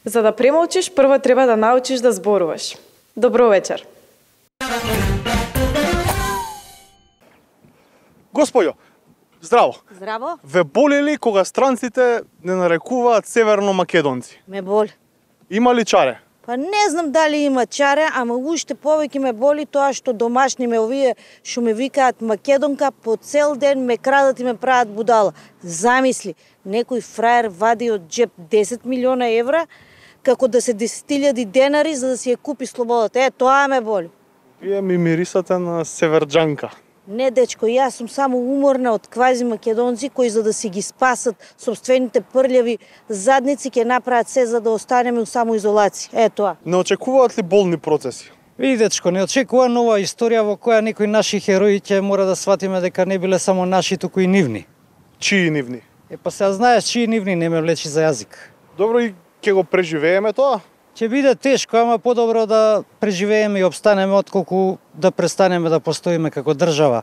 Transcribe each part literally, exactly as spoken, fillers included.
За да премолчиш, прво треба да научиш да зборуваш. Добро вечер. Господјо, здраво. Здраво. Ве боли ли кога странците не нарекуваат северно македонци? Ме боли. Има ли чаре? Па не знам дали има чаре, ама уште повеќе ме боли тоа што домашни ме овие што ме викаат македонка, по цел ден ме крадат и ме прават будала. Замисли, некој фраер вади од джеп десет милиона евра како да се десет илјади денари за да си ја купи слободата. Е, тоа ме боли. Вие ми мирисате на северџанка. Не, дечко, јас сум само уморна од квази македонци кои за да си ги спасат собствените прљави задници ќе направат се за да останеме у самоизолација. Е тоа. Не очекуваат ли болни процеси? Види, дечко, не очекува нова историја во која некои наши херои ќе мора да сватиме дека не биле само наши, туку и нивни. Чии нивни? Е, па сега знаеш, чии нивни не ме влечи за јазик. Добро, и ќе го преживееме тоа? Ќе биде тешко, ама подобро да преживееме и обстанеме отколку да престанеме да постоиме како држава.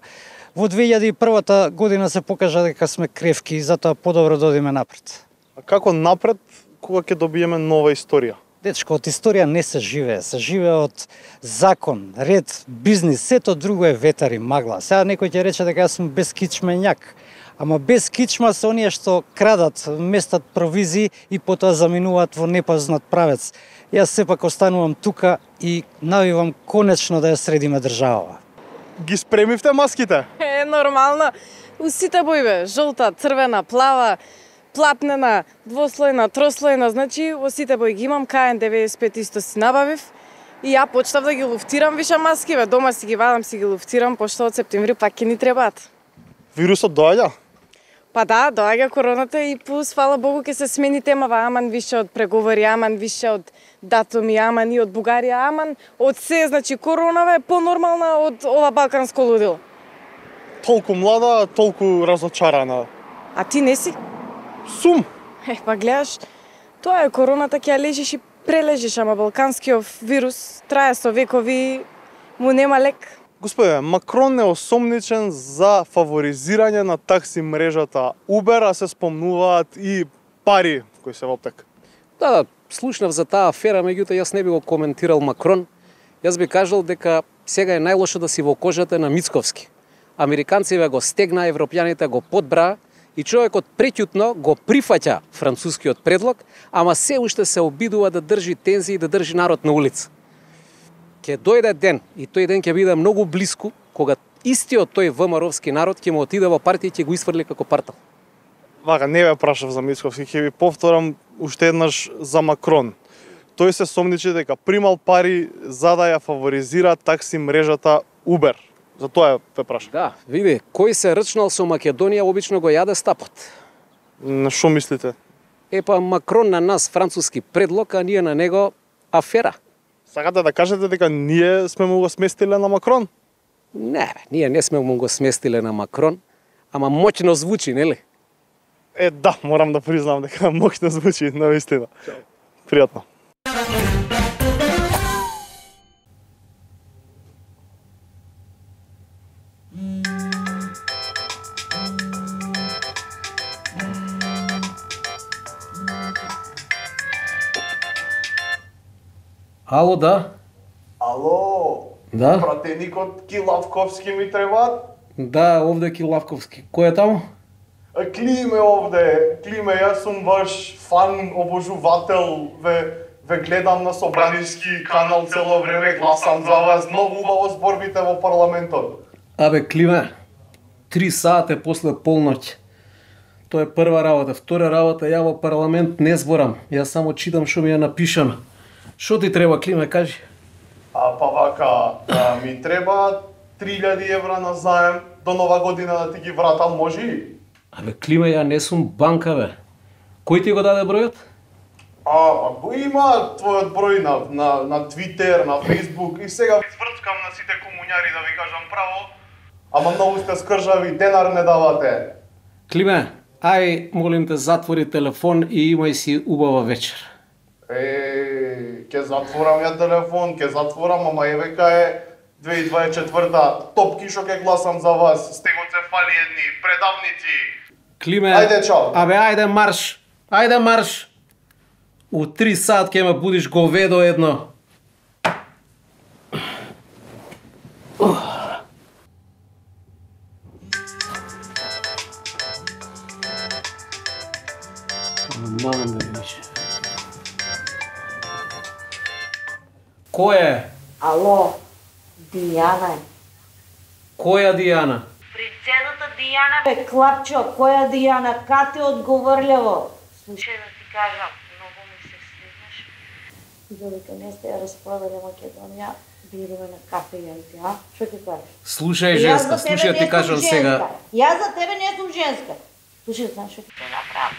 Во две илјади и прва година се покажа дека сме кревки и затоа подобро да одиме напред. А како напред кога ќе добиеме нова историја? Дечко, од историја не се живее, се живее од закон, ред, бизнис, сето друго е ветар и магла. Сега некој ќе рече дека јас сум безкичменјак, ама без кичма се оние што крадат, местат провизии и потоа заминуваат во непознат правец. Јас сепак останувам тука и навивам конечно да ја средиме државава. Ги спремивте маските? Е, нормално. У сите бои бе, жолта, црвена, плава, платнена, двослојна, трослојна, значи во сите бои ги имам, К Н деветдесет и пет исто си набавив и ја почнав да ги луфтирам више маски, бе, дома си ги вадам, си ги луфтирам, пошто од септември пак ќе ни требаат. Вирусот доаѓа? Па да, доаѓа короната и плюс, фала Богу, ќе се смени темава, аман више од преговори, аман више од датуми, аман и од Бугарија, аман од се, значи коронава е понормална од ова балканско лудило. Толку млада, толку разочарана. А ти не си? Сум. Е, па гледаш, тоа е короната, ќе ја лежиш и прележиш, ама балканскиот вирус трае со векови, му нема лек. Господе, Макрон е осомничен за фаворизирање на такси мрежата Uber, а се спомнуваат и пари кои се во аптек. Да, да, слушнав за таа афера, меѓутоа јас не би го коментирал Макрон. Јас би кажал дека сега е најлошо да си во кожата на Мицковски. Американците го стегна, европјаните го подбра и човекот преќутно го прифаќа францускиот предлог, ама се уште се обидува да држи тензии и да држи народ на улица. Ќе дојде ден, и тој ден ќе биде многу блиску, кога истиот тој ВМРО-вски народ ќе му отиде во партија и ќе го исфрли како партал. Вака, не ве прашав за Мицковски, ќе ви повторам уште еднаш за Макрон. Тој се сомничи дека примал пари за да ја фаворизира такси мрежата Uber. За тоа ве прашав. Да, види, кој се рчнал со Македонија обично го јаде стапот. На што мислите? Епа Макрон на нас француски предлог, а ние на него афера. Сакате да кажете дека ние сме му го сместиле на Макрон? Не, бе, ние не сме му го сместиле на Макрон, ама моќно звучи, нели? Е, да, морам да признам дека моќно звучи, навистина. Пријатно. Ало, да? Ало, Да? пратеникот Килавковски ми требаат? Да, овде Килавковски. Кој е таму? А, Климе овде, Климе, јас сум ваш фан, обожувател, ве, ве гледам на Собранишки канал цело време, гласам за вас, многу убаво зборбите во парламентот. Абе, Климе, три сати после полноќ. Тоа е прва работа. Втора работа, ја во парламент не зборам. Јас само читам што ми е напишано. Што ти треба, Климе, кажи? А па вака, а, ми треба три илјади евра на заем до нова година да ти ги вратам, може ли? Абе, Климе, ја не сум банка, бе. Кој ти го даде бројот? А, па го има твојот број на, на, на Twitter, на Facebook и сега ви сврткам на сите комуњари да ви кажам право, ама многу сте скржави, денар не давате. Климе, ај, молим те, затвори телефон и имај си убава вечер. Е, ќе затворам ја телефон, ќе затворам, ама е века е две илјади дваесет и четврта. Топки што ќе гласам за вас. Стегот се фали едни предавници. Климе, Ајде, чао. Абе, ајде марш. Ајде марш. У три сат ќе ме будиш говедо едно. Мамам да беше. Кој е? Ало, Дијана е. Која Дијана? Принцезата Дијана бе, клапчо, која Дијана, кате одговорливо. Слушај да ти кажам, многу ми се свидиш. Додека не сте ја распродали Македонија, бидеме на кафе јајте, а? Што ќе кажеш? Слушај, женска, слушај, ти кажам сега. Јас за тебе не сум женска. Слушај, знаеш што ќе те направам?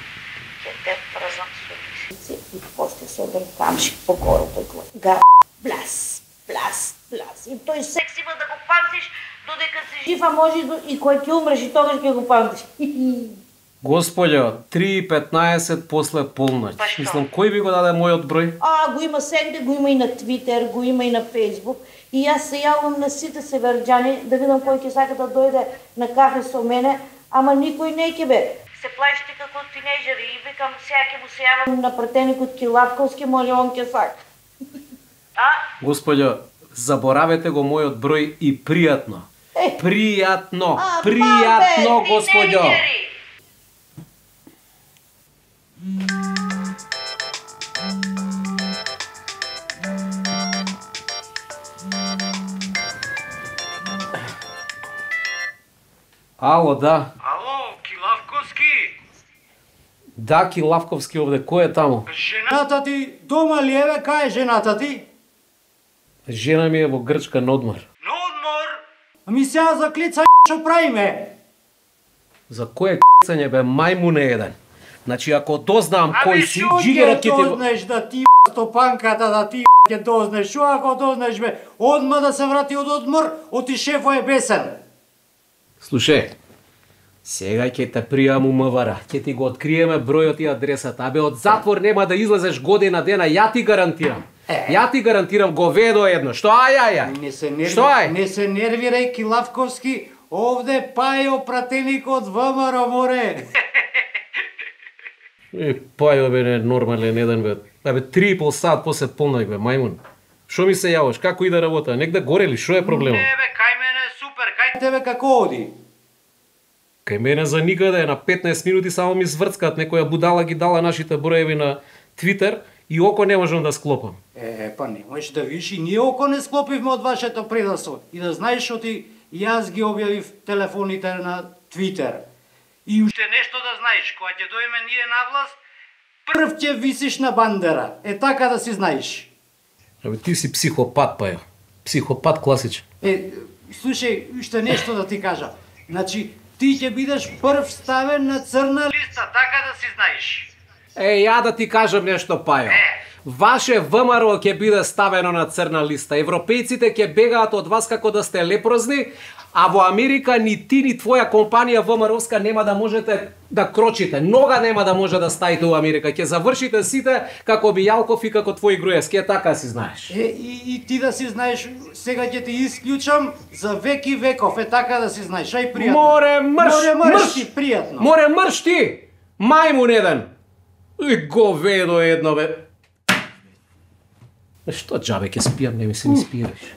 Ќе те прзам со лисици и после се оден камшик по гору тој глад. Га, блас, блас, блас. И тој секс има да го памтиш додека си жив, а може и кој ќе умреш и тогаш ќе го памтиш. Господјо, три и петнаесет после полноќ. Мислам, кој би го даде мојот број? А, го има сегде, го има и на Твитер, го има и на Фејсбук. И јас се јавам на сите северџани да видам кој ќе сака да дојде на кафе со мене, ама никој не ќе бе. Се плашите како тинејџери и викам сега ќе му се јавам на пратеникот Килавковски, може он ќе сака. А? Господјо, заборавете го мојот број и пријатно. Е. Пријатно, А, пријатно, мамбе, господјо. тинејџери! Ало, да. Ало, Килавковски? Да, Килавковски овде, кој е таму? Жената ти дома ли е, бе? Кај е жената ти? Жена ми е во Грчка на одмор. На одмор? Ами сега за клица што правиме? За кое кцање бе, мајмуне еден. Значи, ако дознам кој си, шо джигерот ќе ќе ти го... дознеш да ти стопанката, да ти ќе дознеш? Шо ако дознеш, бе? Одма да се врати од одмор, оти шефо е бесен. Слушај, сега ќе те пријам у МВР, ќе ти го откриеме бројот и адресата, абе од затвор нема да излезеш година дена, ја ти гарантирам. Е. Ја ти гарантирам говедо едно. Што ај ај ај? Не се нерви... Што ај? Не се нервирај, Килавковски, овде пајо пратеникот ВМРО море. Е, пајо бе, не нормален еден бе. Абе, три и пол сат после полноќ бе, мајмун. Што ми се јаваш? Како иде работа? Нек да горели, што е проблемот? Не бе, кај мене е супер, кај тебе како оди? Кај мене за никаде, на петнаесет минути само ми зврцкаат, некоја будала ги дала нашите броеви на Твитер и око не можам да склопам. Е, па не можеш да видиш и ние око не склопивме од вашето предавство. И да знаеш што ти јас ги објавив телефоните на Твитер. И уште нешто да знаеш, кога ќе дојме ние на власт, прв ќе висиш на бандера. Е така да си знаеш. Абе, ти си психопат, пајо. Психопат класичен. Е, слушај, уште нешто да ти кажа. Значи, ти ќе бидеш прв ставен на црна листа, така да си знаеш. Е, ја да ти кажам нешто, пајо. Ваше ВМРО ќе биде ставено на црна листа. Европејците ќе бегаат од вас како да сте лепрозни, а во Америка ни ти ни твоја компанија ВМРО-ска нема да можете да крочите. Нога нема да може да стаите во Америка. Ќе завршите сите како Бијалков и како твој Груевски. Е, така си знаеш. Е, и, и ти да си знаеш, сега ќе ти исклучам за веки веков. Е, така да си знаеш. Ај пријатно. Море мрш! Море мрш, мрш! ти пријатно. Море мрш ти! Мајмун еден! И говедо едно, бе. Е, што џабе ќе спијам, не ми се ни спиеш.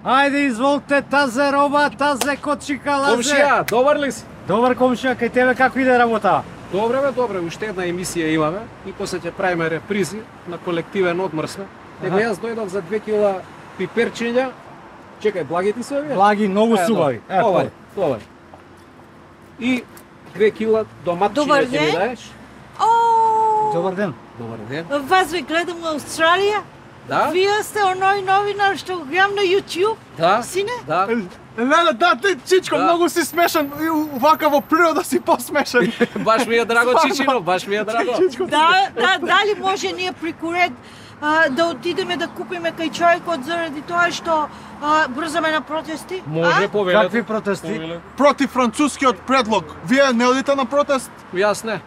Ајде, изволте, тазе роба, тазе кочика лазе. Комшија, добар ли си? Добар комшија, кај тебе како иде работа? Добре бе, добре, уште една емисија имаме и после ќе правиме репризи на колективен одмор сме. Него јас дојдов за две кила пиперчиња. Чекај, благи ти се овие? Благи, многу Е, субави. добре. Овај, овај. И две кила доматчиња Добар ќе ми ден. даеш. О, Добар ден. Добар ден. вас ве гледам во Австралија. Да? Вие сте оној новинар што го гледам на YouTube. Да? Сине? Да. Леле, да, ти, Чичко, Да. многу си смешен. И вака во природа си посмешен. Баш ми е драго, Чичино, баш ми е драго. Да, да, дали може ние преку ред а, да отидеме да купиме кај човекот заради тоа што а, брзаме на протести? Може А? повелете. Какви протести? Повелете. Против францускиот предлог. Вие не одите на протест? Јас не.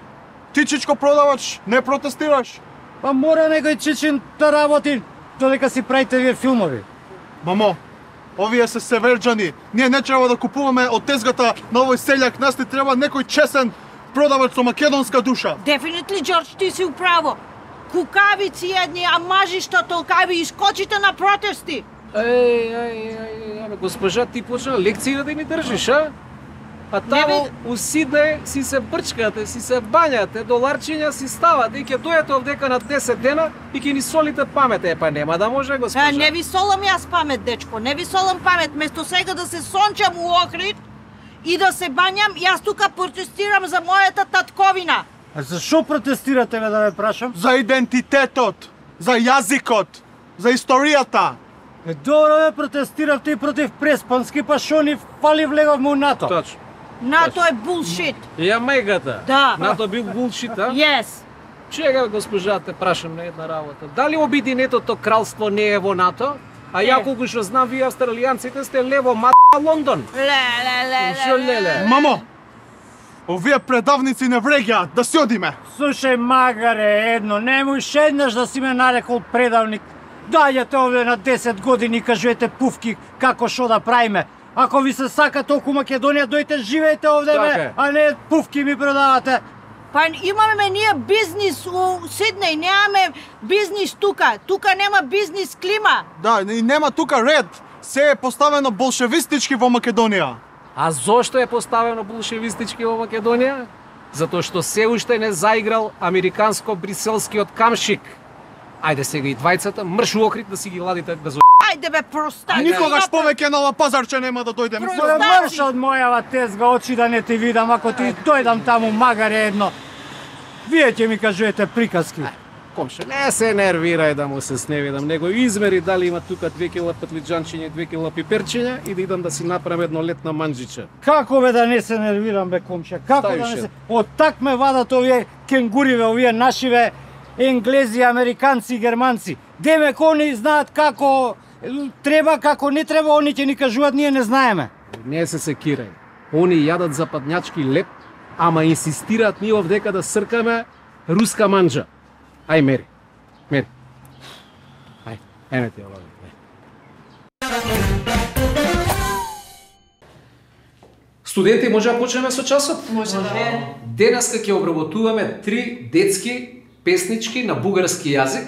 Ти, Чичко, продавач, не протестираш? Па мора некој чичин да работи додека си правите вие филмови. Мамо, Овие се северџани. Ние не треба да купуваме од тезгата на овој селјак, нас ни треба некој чесен продавач со македонска душа. Дефинитли, Џорџ, ти си управо. Кукавици едни, а мажишта толкави, искочите на протести. Еј, еј, еј, еј, госпожа, ти почна лекција да ми држиш, а? А таму у Сиднеј си се брчкате, си се бањате, доларчиња си ставате и ќе дојдете овдека на десет дена и ќе ни солите памет. Е, па нема да може, госпожа. Е, не ви солам јас памет, дечко, не ви солам памет. Место сега да се сончам у Охрид и да се бањам, јас тука протестирам за мојата татковина. А зашо протестирате, бе, да ме прашам? За идентитетот, за јазикот, за историјата. Е, добро, бе, протестиравте и против Преспански, па шо ни фали влегавме у НАТО. Точно. НАТО е булшит. Ја мајгата. Да. НАТО бил булшит, а? Yes. Чега, госпожа, те прашам на една работа. Дали Обединетото кралство не е во НАТО? А ја колку што знам, вие австралијанците сте лево ма Лондон. Ле, ле, ле, Шо леле? Мамо, овие предавници не вреѓаат, да си одиме. Слушај, магаре, едно, немој еднаш да си ме нарекол предавник. Доаѓате овде на десет години и кажете пуфки како шо да правиме. Ако ви се сака толку Македонија, дојте живеете овде, Така бе, е. а не пуфки ми продавате. Па имаме ние бизнис у Сиднеј, немаме бизнис тука. Тука нема бизнис клима. Да, и нема тука ред. Се е поставено болшевистички во Македонија. А зошто е поставено болшевистички во Македонија? Затоа што се уште не заиграл американско-бриселскиот камшик. Ајде сега и двајцата, мрш у Охрид да си ги ладите без. Ајде бе, простај. Никогаш повеќе на ова пазарче нема да дојдем. Про- Моја мрш од мојава тезга, очи да не ти видам, ако ти дојдам таму, магаре едно. Вие ќе ми кажете приказки. Комше, не се нервирај да му се сневидам, него измери дали има тука две кила петлиџанчиња и две кила пиперчиња и да идам да си направам едно летна манџиче. Како бе да не се нервирам, бе, комше? Како Ставиш да не се. се... Од так ме вадат овие кенгуриве, овие нашиве енглези, американци и германци. Демек они знаат како треба, како не треба, они ќе ни кажуваат, ние не знаеме. Не се секирај. Они јадат западњачки леп, ама инсистираат ние овдека да сркаме руска манџа. Ај мери. Мери. Ај, ене ти олови. Студенти, може да почнеме со часот? Може да. Денеска ќе обработуваме три детски песнички на бугарски јазик.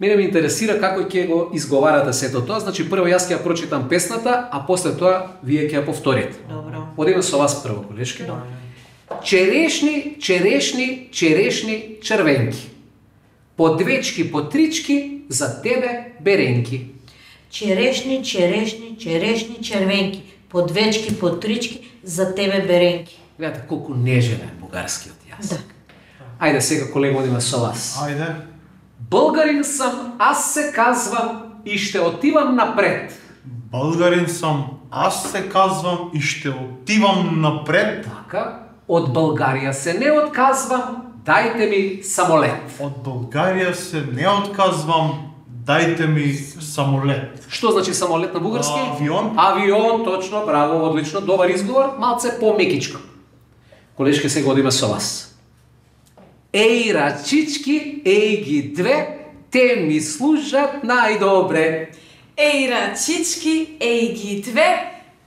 Мене ме интересира како ќе го изговарате сето тоа. Значи прво јас ќе ја прочитам песната, а после тоа вие ќе ја повторите. Добро. Одиме со вас прво, колешки. Черешни, черешни, черешни, червенки. По двечки, по трички, за тебе беренки. Черешни, черешни, черешни, червенки. По двечки, по трички, за тебе беренки. Гледате колку нежен е бугарскиот јазик. Да. Ајде сега, колега, одиме со вас. Ајде. Българин сам, аз се казвам и ще отивам напред. Българин сам, аз се казвам и ще отивам напред. Така, от Българија се не отказвам, дайте ми самолет. От Българија се не отказвам, дайте ми самолет. Што значи самолет на бугарски? Авион. Авион, точно, браво, одлично, добар изговор, малце по-мекичко. Колешке, сега одиме со вас. Еј, рачички, еј ги две, те ми служат најдобре. Еј, рачички, еј ги две,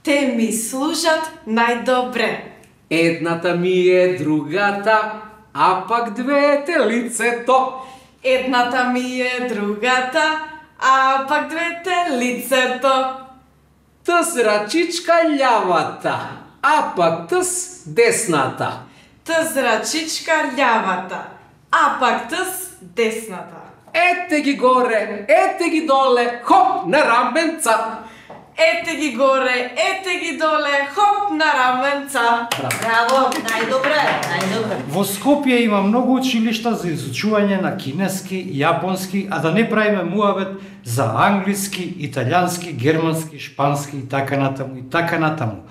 те ми служат најдобре. Едната ми е другата, а пак двете лицето. Едната ми е другата, а пак двете лицето. Тъс рачичка лявата, а пак тъс десната. Тъс рачичка лявата, а пак тъс десната. Ете ги горе, ете ги доле, хоп на раменца. Ете ги горе, ете ги доле, хоп на раменца. Браво, најдобре, најдобре. Во Скопје има многу училишта за изучување на кинески, јапонски, а да не правиме муавет за англиски, италијански, германски, шпански и така натаму и така натаму.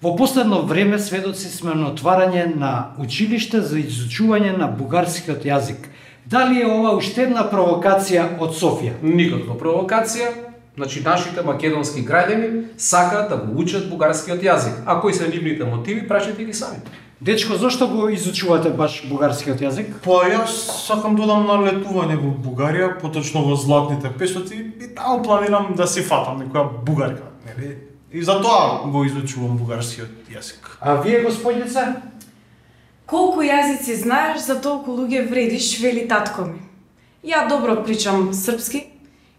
Во последно време сведоци сме на отварање на училиште за изучување на бугарскиот јазик. Дали е ова уште една провокација од Софија? Никаква провокација. Значи, нашите македонски граѓани сакаат да го учат бугарскиот јазик. А кои се нивните мотиви, прашајте ги сами. Дечко, зошто го изучувате баш бугарскиот јазик? Па јас сакам да одам на летување во Бугарија, поточно во Златните песоци и таму планирам да си фатам некоја бугарка. Не Еве, и затоа го изучувам бугарскиот јазик. А вие, господица? Колку јазици знаеш, за толку луѓе вредиш, вели татко ми. Ја добро причам српски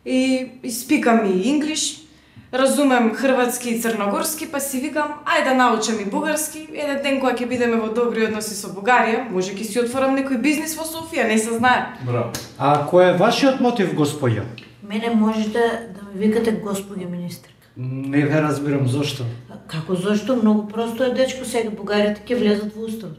и испикам и инглиш, разумем хрватски и црногорски, па си викам, ајде да научам и бугарски, еден ден кога ќе бидеме во добри односи со Бугарија, може ќе си отворам некој бизнис во Софија, не се знае. Браво. А кој е вашиот мотив, господја? Мене можете да ме викате господја министерка. Не ве разбирам зошто. Како зошто? Многу просто е, дечко, сега бугарите ќе влезат во уставот.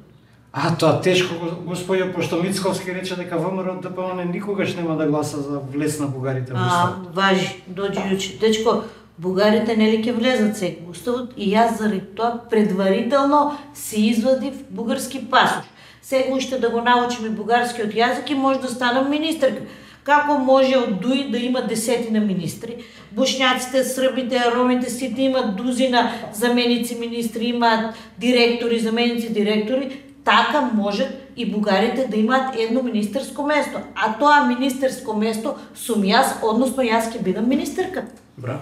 А, тоа тешко, господја, пошто Мицковски рече дека ВМРО Д П М никогаш нема да гласа за влез на бугарите во А, уставот. важи, дојди јуче. Дечко, бугарите нели ќе влезат сега во уставот и јас заради тоа предварително си извадив бугарски пасош. Сега уште да го научим и бугарскиот јазик и може да станам министерка. Како може од ДУИ да има десетина министри? Бошњаците, србите, ромите, сите имат дузина заменици министри, имаат директори, заменици директори. Така можат и бугарите да имаат едно министерско место. А тоа министерско место сум јас, односно јас ќе бидам министерка. Браво.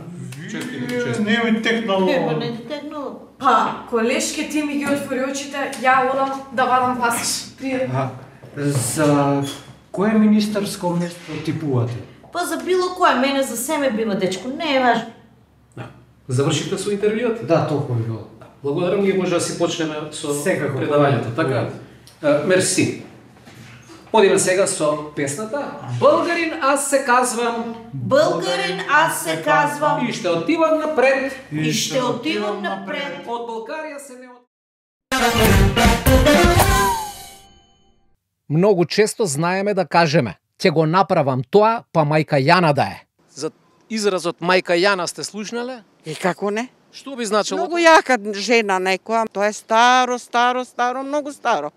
Честито, честито. Не ми текнало. Ево, не ти текнало. Па, колешке ти ми ги отвори очите, ја одам да вадам пасиш. Пријде. А, за кое министерско место типувате? Па за било кое, мене за семе бива, дечко, не е важно. Да. Завршите со интервјуот? Да, толку би било. Благодарам ги, може да си почнеме со Секако. предавањето, така? Uh, мерси. Одиме сега со песната Българин аз се казвам Българин аз се казвам и ще отивам напред. и ще отивам напред. Од Българија се не од... Многу често знаеме да кажеме ќе го направам тоа, па мајка Јана да е. За изразот мајка Јана сте слушнале? И како не? Што би значило? Многу јака жена некоја, тоа е старо, старо, старо, многу старо.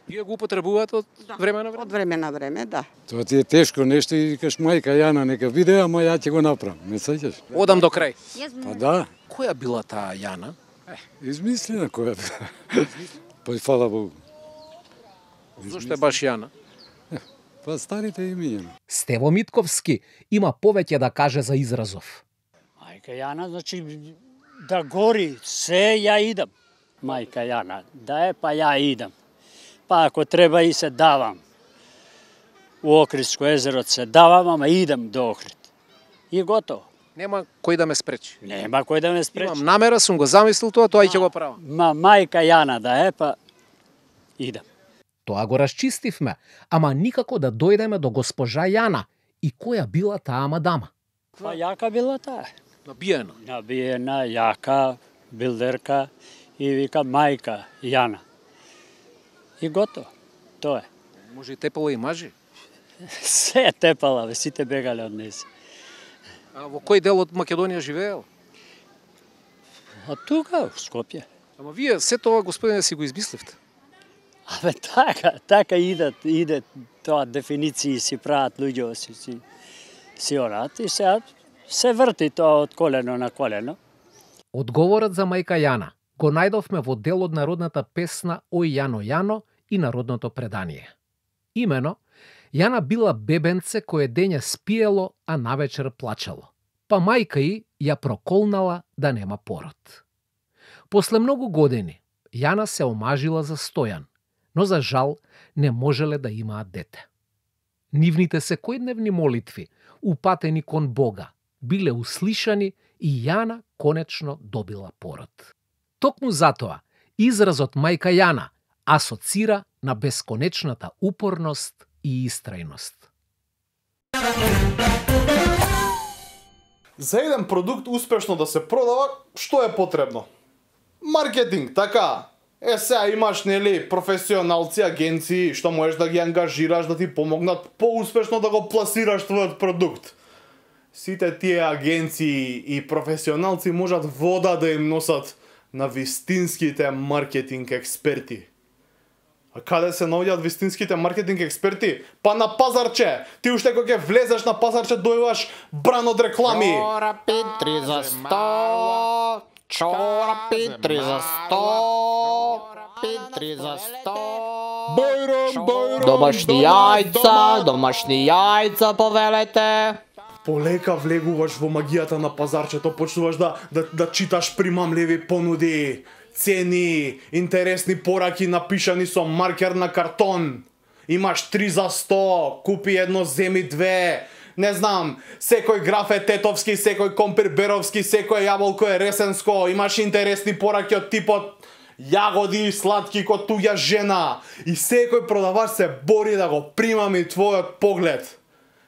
Вие го употребувате од време на време? Од време на време, да. Тоа ти е тешко нешто и викаш мајка Јана нека биде, ама ја ќе го направам. Не сеќаш? Одам до крај. Па да, Која била таа Јана? измислена која била. Па фала Богу. Зошто е баш Јана? Па старите имиња. Стево Митковски има повеќе да каже за изразов. Мајка Јана, значи да гори се ја идам. Мајка Јана, да е па ја идам. Па ако треба и се давам. У Охридско езеро се давам, ама идам до Охрид. И готово. Нема кој да ме спречи. Нема кој да ме спречи. Имам намера, сум го замислил тоа, тоа и ќе го правам. Ма мајка Јана да е, па идам. Тоа го расчистивме, ама никако да дојдеме до госпожа Јана и која била таа мадама. Па јака била таа. Набиена. Набиена, јака, билдерка и вика мајка Јана. И готово. Тоа е. Може и тепала и мажи. Се е тепала, бе, сите бегале од неси. А во кој дел од Македонија живеел? А тука, в Скопје. Ама вие се тоа, господине, си го измисливте. Абе, така, така идат, иде тоа дефиниции си прават луѓе, си, си, си орат и се, се врти тоа од колено на колено. Одговорот за мајка Јана го најдовме во дел од народната песна Ој Јано Јано и народното предание. Имено, Јана била бебенце кое дење спиело, а навечер плачело. Па мајка и ја проколнала да нема пород. После многу години, Јана се омажила за Стојан, но за жал не можеле да имаат дете. Нивните секојдневни молитви, упатени кон Бога, биле услишани и Јана конечно добила пород. Токму затоа, изразот мајка Јана асоцира на бесконечната упорност и истрајност. За еден продукт успешно да се продава, што е потребно? Маркетинг, така. Е, сега имаш, нели, професионалци, агенции, што можеш да ги ангажираш да ти помогнат поуспешно да го пласираш твојот продукт. Сите тие агенции и професионалци можат вода да им носат на вистинските маркетинг експерти. А каде се наоѓаат вистинските маркетинг експерти? Па на пазарче! Ти уште кога ќе влезеш на пазарче дојуваш бран од реклами. Чорапи три за сто, чорапи три за сто, три за сто. Бојром, бојром, Домашни јајца, домашни јајца повелете. полека влегуваш во магијата на пазарчето, почнуваш да, да, да читаш примамливи понуди, цени, интересни пораки напишани со маркер на картон. Имаш три за сто, купи едно, земи две. Не знам, секој граф е тетовски, секој компир беровски, секој јаболко е ресенско. Имаш интересни пораки од типот јагоди сладки ко туѓа жена. И секој продавач се бори да го примами твојот поглед.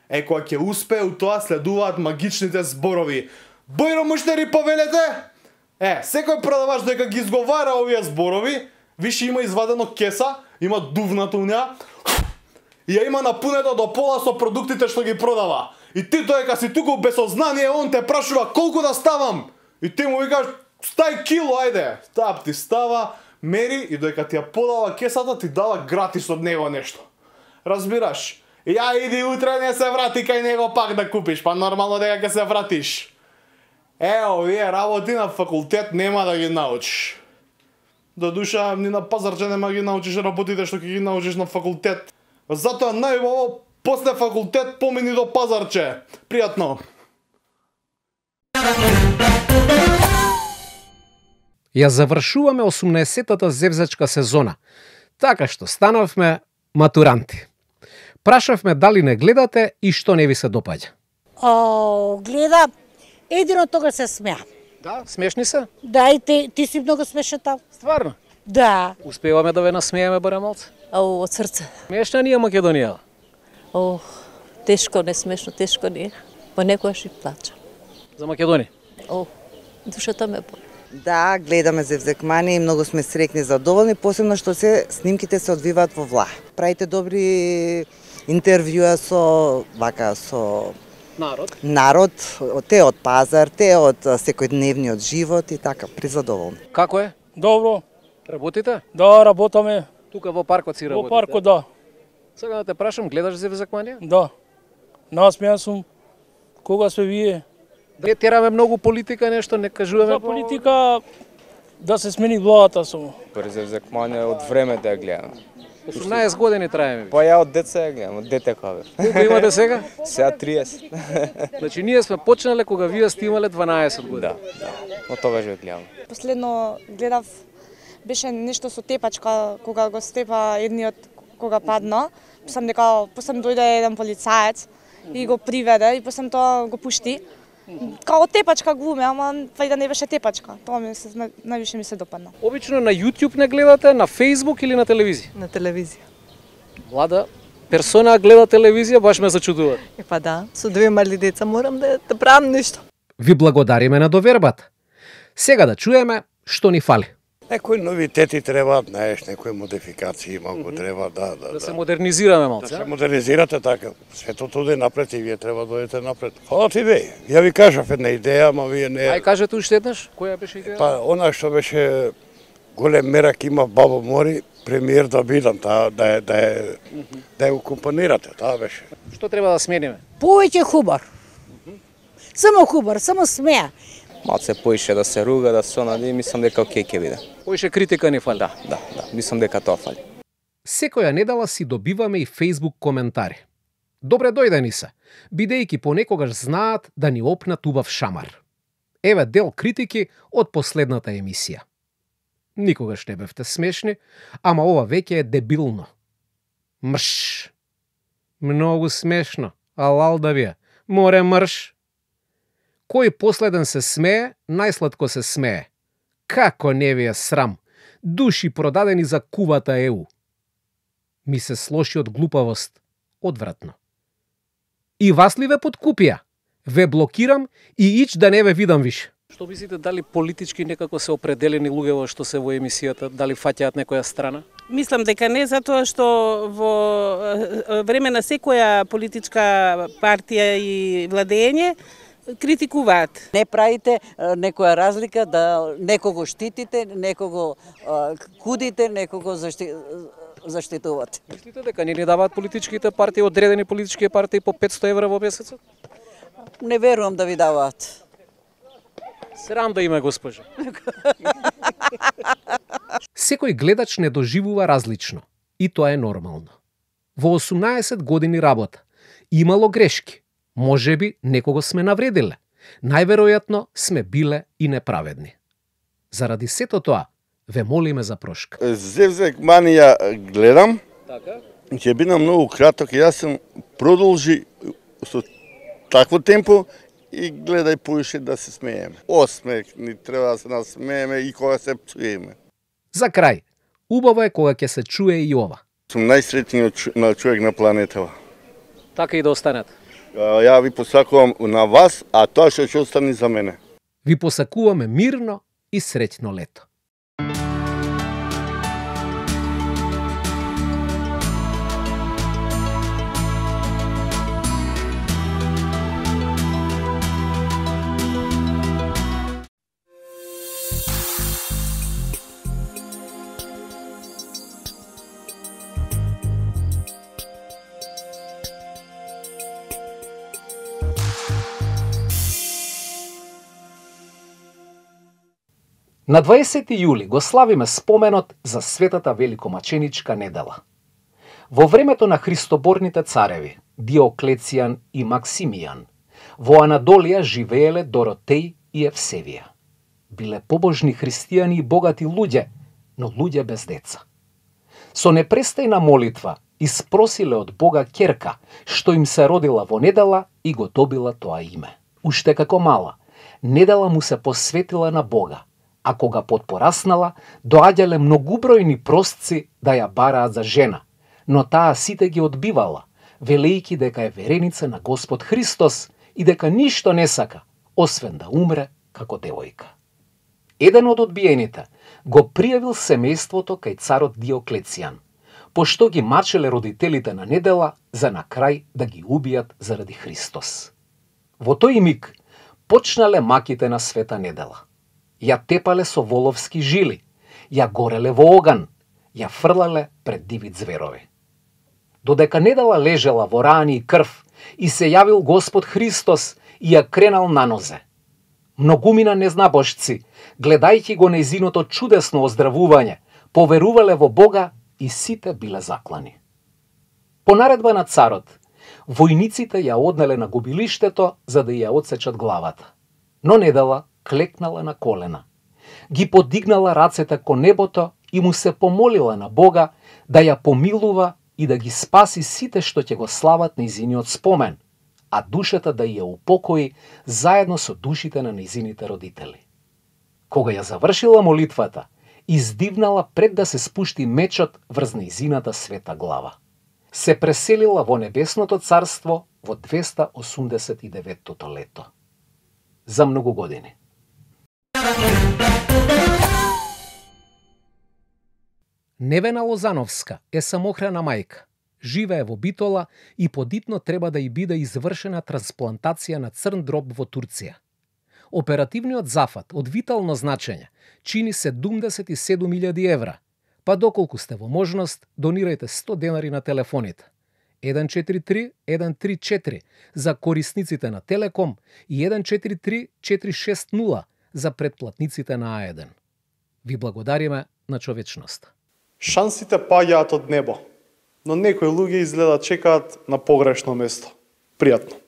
Е, кога ќе успее у тоа следуваат магичните зборови. Бојро муштери повелете? Е, секој продавач дека ги изговара овие зборови, више има извадено кеса, има дувната у неа, и ја има напунета до пола со продуктите што ги продава. И ти доека си туку без сознание, он те прашува колку да ставам. И ти му викаш, стај кило, ајде. Тап ти става, мери и доека ти ја подава кесата, ти дава гратис од него нешто. Разбираш? Ја иди утре, не се врати кај него пак да купиш, па нормално дека ќе се вратиш. Е, овие работи на факултет нема да ги научиш. До душа, ни на пазарче нема ги научиш работите што ќе ги научиш на факултет. Затоа најубаво после факултет помини до пазарче. Пријатно. Ја завршуваме осумнаесеттата зевзачка сезона, така што станавме матуранти. Прашавме дали не гледате и што не ви се допаѓа. О, гледа, едино тога се смеа. Да, смешни се? Да, и ти, ти си многу смешен таа. Стварно? Да. Успеваме да ве насмееме барем малце? О, од срце. Смешна ни е Македонија. О, тешко не смешно, тешко ни е. Понекогаш и плачам. За Македонија? О, душата ме боли. Да, гледаме Зевзекмани и многу сме среќни и задоволни, посебно што се снимките се одвиваат во влах. Правите добри интервјуа со вака со народ. Народ, те од пазар, те од секојдневниот живот и така, призадоволни. Како е? Добро. Работите? Да, работаме. Тука во паркот си работите? Во паркот, да. Сега да те прашам, гледаш Зевзекманија? Да. Насмеан сум. Кога сме вие? Да тераме многу политика, нешто не кажуваме. За политика да се смени владата само. През Зевзекманија од време да ја гледам. осумнаесет години траеме. Па ја од деца ја гледам, од дете кога бев. Колку имате сега? Сега триесет. Значи ние сме почнале кога вие сте имале дванаесет години. Да, да. Од тогаш ја гледам. Последно гледав беше нешто со тепачка кога го степа едниот кога падна. Посам дека посам дојде еден полицаец и го приведе и посам тоа го пушти. Као тепачка глуме, ама вајде не беше тепачка. Тоа ми се највише ми се допадна. Обично на YouTube не гледате, на Facebook или на телевизија? На телевизија. Влада, персона гледа телевизија, баш ме зачудува. Е па да, со две мали деца морам да, да правам нешто. Ви благодариме на довербата. Сега да чуеме што ни фали. Некои новитети требаат, знаеш, некои модификации малку треба да да да се модернизираме малце. Да се модернизирате така. Светото оде напред и вие треба да одите напред. Фала ти бе. Ја ви кажав една идеја, ама вие не. Ај кажете уште еднаш, која беше идеја? Па она што беше голем мерак има Бабо Мори, премиер да бидам, таа да е да е да ја компонирате, таа беше. Што треба да смениме? Повеќе хубар. Само хубар, само смеа. Малце поише да се руга, да се онади, мислам дека окей ќе биде. Поише критика ни фали. Да, да, да, мислам дека тоа фали. Секоја недела си добиваме и Facebook коментари. Добре дојдени се, бидејќи понекогаш знаат да ни опнат убав шамар. Еве дел критики од последната емисија. Никогаш не бевте смешни, ама ова веќе е дебилно. Мрш. Многу смешно, алал да ви е. Море мрш. Кој последен се смее, најсладко се смее. Како не ви е срам? Души продадени за кувата Е У. Ми се слоши од глупавост. Одвратно. И вас ли ве подкупија? Ве блокирам и ич да не ве видам више. Што мислите, дали политички некако се определени луѓето што се во емисијата, дали фаќаат некоја страна? Мислам дека не, затоа што во време на секоја политичка партија и владење критикуваат. Не правите некоја разлика да некого штитите, некого кудите, некого защи... заштитувате. Мислите дека не ни даваат политичките партии, одредени политички партии по петсто евра во месецот? Не верувам да ви даваат. Срам да има, госпожа. Секој гледач не доживува различно. И тоа е нормално. Во осумнаесет години работа имало грешки, Можеби некого сме навредиле. Најверојатно сме биле и неправедни. Заради сето тоа, ве молиме за прошка. Зевзек мани ја гледам. Така? Ќе биде многу краток, јас сум продолжи со такво темпо и гледај поише да се смееме. Осмех ни треба да се насмееме и кога се пцуеме. За крај, убаво е кога ќе се чуе и ова. Сум најсреќниот на човек на планетава. Така и да останете. Ја ви посакувам на вас, а тоа што ќе остане за мене. Ви посакуваме мирно и среќно лето. На дваесети јули го славиме споменот за светата великомаченичка недела. Во времето на христоборните цареви, Диоклецијан и Максимијан, во Анадолија живееле Доротеј и Евсевија. Биле побожни христијани и богати луѓе, но луѓе без деца. Со непрестајна молитва испросиле од Бога ќерка, што им се родила во недела и го добила тоа име. Уште како мала, недела му се посветила на Бога, а кога потпораснала, доаѓале многубројни простци да ја бараат за жена, но таа сите ги одбивала, велејки дека е вереница на Господ Христос и дека ништо не сака, освен да умре како девојка. Еден од одбиените го пријавил семејството кај царот Диоклецијан, пошто ги мачеле родителите на недела за на крај да ги убијат заради Христос. Во тој миг почнале маките на света недела. Ја тепале со воловски жили, ја гореле во оган, ја фрлале пред диви зверови. Додека недела лежела во рани и крв и се јавил Господ Христос и ја кренал на нозе. Многумина незнабожци, гледајќи го нејзиното чудесно оздравување, поверувале во Бога и сите биле заклани. По наредба на царот, војниците ја однеле на губилиштето за да ја одсечат главата. Но недела клекнала на колена, ги подигнала рацете кон небото и му се помолила на Бога да ја помилува и да ги спаси сите што ќе го слават нејзиниот спомен, а душата да ја упокои заедно со душите на нејзините родители. Кога ја завршила молитвата, издивнала пред да се спушти мечот врз нејзината света глава. Се преселила во небесното царство во двеста осумдесет и деветото лето. За многу години. Невена Лозановска е самохрана мајка. Живее во Битола и подитно треба да ја биде извршена трансплантација на црн дроб во Турција. Оперативниот зафат од витално значење чини седумдесет и седум илјади евра, па доколку сте во можност, донирајте сто денари на телефоните еден четири три еден три четири за корисниците на Телеком и еден четири три четири шест нула за претплатниците на А еден. Ви благодариме на човечноста. Шансите паѓаат од небо, но некои луѓе изгледа чекаат на погрешно место. Пријатно.